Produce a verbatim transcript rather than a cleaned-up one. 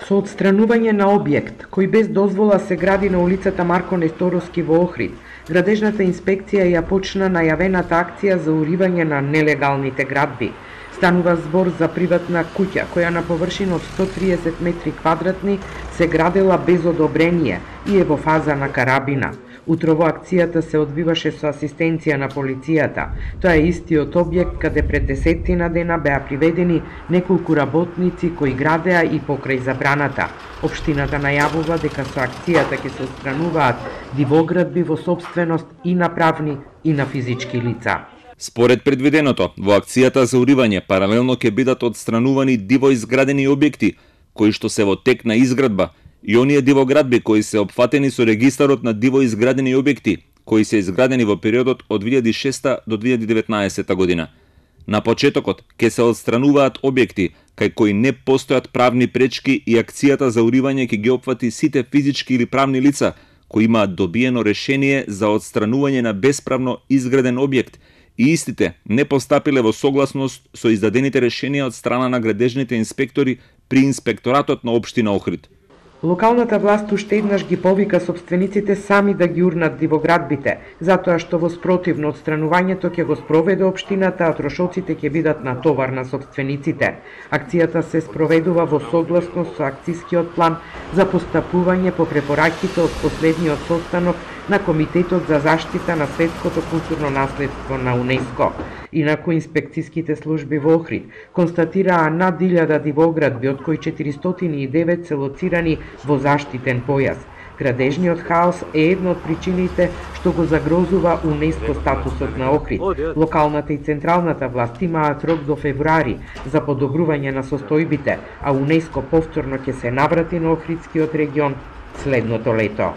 Со отстранување на објект кој без дозвола се гради на улицата Марко Несторовски во Охрид, градежната инспекција ја почна најавената акција за уривање на нелегалните градби. Станува збор за приватна куќа која на површина од сто триесет метри квадратни се градела без одобрение и е во фаза на карабина. Утрово акцијата се одвиваше со асистенција на полицијата. Тоа е истиот објект каде пред десеттина дена беа приведени неколку работници кои градеа и покрај забраната. Општината најавува дека со акцијата ќе се отстрануваат дивоградби во сопственост и на правни и на физички лица. Според предвиденото, во акцијата за уривање паралелно ќе бидат отстранувани диво изградени објекти кои што се во тек на изградба и оние дивоградби кои се опфатени со регистарот на диво изградени објекти кои се изградени во периодот од две илјади и шеста до две илјади и деветнаесета година. На почетокот ќе се отстрануваат објекти кај кои не постојат правни пречки и акцијата за уривање ќе ги опфати сите физички или правни лица кои имаат добиено решение за отстранување на бесправно изграден објект и истите не постапиле во согласност со издадените решенија од страна на градежните инспектори при инспекторатот на општина Охрид. Локалната власт уште еднаш ги повика сопствениците сами да ги урнат дивоградбите, затоа што во спротивно отстранувањето ќе го спроведе општината, а трошоците ќе бидат на товар на сопствениците. Акцијата се спроведува во согласност со акцискиот план за постапување по препораките од последниот состанок на Комитетот за заштита на светското културно наследство на УНЕСКО. Инаку инспекцијските служби во Охрид констатираа над илјада дивоградби, од кои четиристотини и девет се лоцирани во заштитен појас. Градежниот хаос е една од причините што го загрозува УНЕСКО статусот на Охрид. Локалната и централната власт имаат рок до февруари за подобрување на состојбите, а УНЕСКО повторно ќе се наврати на Охридскиот регион следното лето.